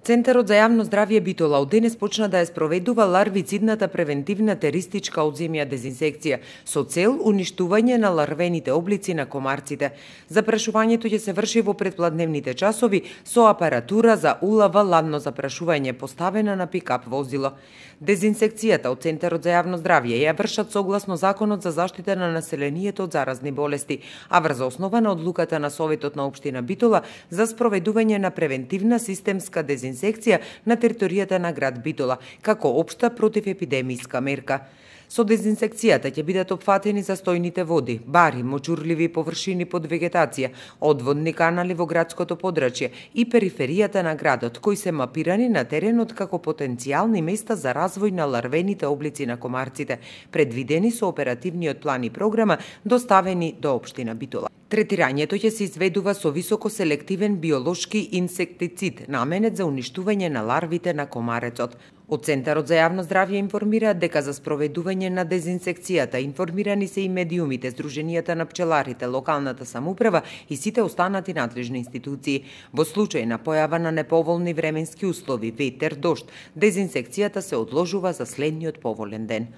Центарот за јавно здравје Битола од денес почна да ја спроведува ларвицидната превентивна теристичка одземја дезинсекција со цел уништување на ларвените облици на комарците. Запрашувањето ќе се врши во предпладневните часови со апаратура за улава ладно запрашување поставена на пикап возило. Дезинсекцијата од Центарот за јавно здравје ја вршат согласно Законот за заштита на населението од заразни болести, а врз основа на одлуката на Советот на општина Битола за спроведување на превентивна системска дезинсекција на територијата на град Битола, како општа противепидемиска мерка. Со дезинсекцијата ќе бидат опфатени застојните води, бари, мочурливи површини под вегетација, одводни канали во градското подрачје и периферијата на градот, кои се мапирани на теренот како потенцијални места за развој на ларвените облици на комарците, предвидени со оперативниот план и програма доставени до општина Битола. Третирањето ќе се изведува со високоселективен биолошки инсектицид, наменет за уништување на ларвите на комарецот. Од Центарот за јавно здравје информираат дека за спроведување на дезинсекцијата информирани се и медиумите, Сдруженијата на пчеларите, локалната самоуправа и сите останати надлежни институции. Во случај на појава на неповолни временски услови, ветер, дожд, дезинсекцијата се одложува за следниот поволен ден.